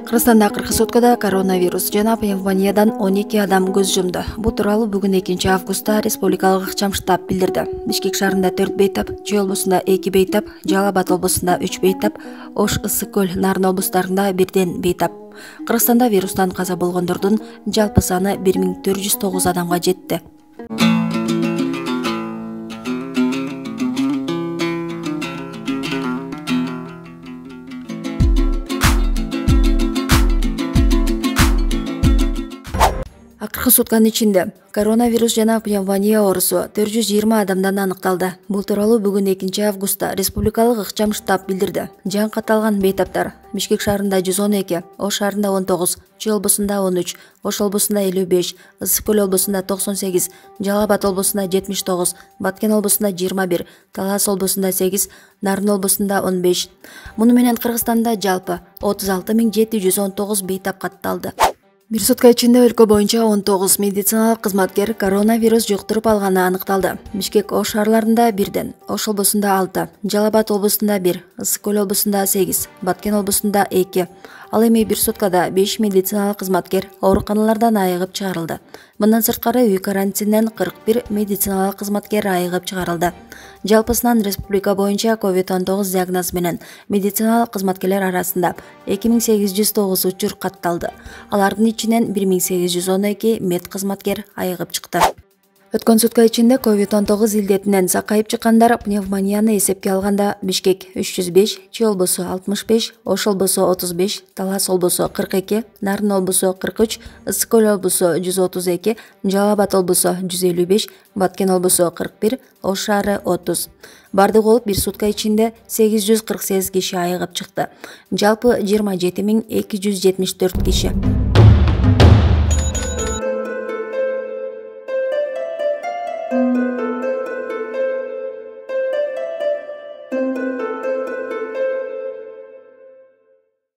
Кыргызстанда акыркы суткада коронавирус жана пневмониядан 12 адам көз жумду. Бул тууралуу бүгүн 2 августта республикалык ыкчам штаб билдирди. Бишкек шаарында 4 бейтап, Чүй облусунда 2 бейтап, Жалал Абад облусунда 3 бейтап, Ош, Ысык көл, Нарын облустарында 1 бейтап. Кыргызстанда вирустан каза болгондордун жалпы саны 1409 адамга жетти. Акыркы сутканын ичинде коронавирус жана пневмония оорусу 420 адамдан аныкталды. Бул тууралуу бүгүн 2 августта республикалык ыкчам штаб билдирди. Жан каталган бейтаптар Бишкек шаарында 112, Ош шаарында 19, Чүй облусунда 13, Ош облусунда 55, Ысык көл облусунда 98, Жалал Абад облусунда 79, Баткен облусунда 21, Талас облусунда 8, Нарын облусунда 15. Муну менен Кыргызстанда жалпы 36719 бейтап катталды. Бир сутка ичинде өлкө боюнча 19 медициналык кызматкер коронавирус жуктуруп алганы аныкталды. Бишкек, Ош шаарларында 1, Ош облусунда 6, Жалал Абад облусунда 1, Ысык көл облусунда 8, Баткен облусунда 2. Ал эми бир суткада 5 медициналык кызматкер ооруканалардан айыгып чыгарылды. Мындан сырткары үй карантининен 41 медициналык кызматкер айыгып чыгарылды. Жалпысынан республика боюнча COVID-19 диагнозу менен медициналык кызматкерлер арасында 2809 учур катталды. Алардын ичинен 1812 мед кызматкер айыгып чыкты. Өткөн сутка ичинде COVID-19 илдетинен сакайып чыккандар пневмонияны эсепке алганда Бишкек 305, Чүй облусу 65, Ош облусу 35, Талас облусу 42, Нарын облусу 43, Ысык көл облусу 132, Жалал Абад облусу 155, Баткен облусу 41, Ош шаары 30. Бардыгы болуп бир сутка ичинде 848 киши айыгып чыкты. Жалпы 27274 киши.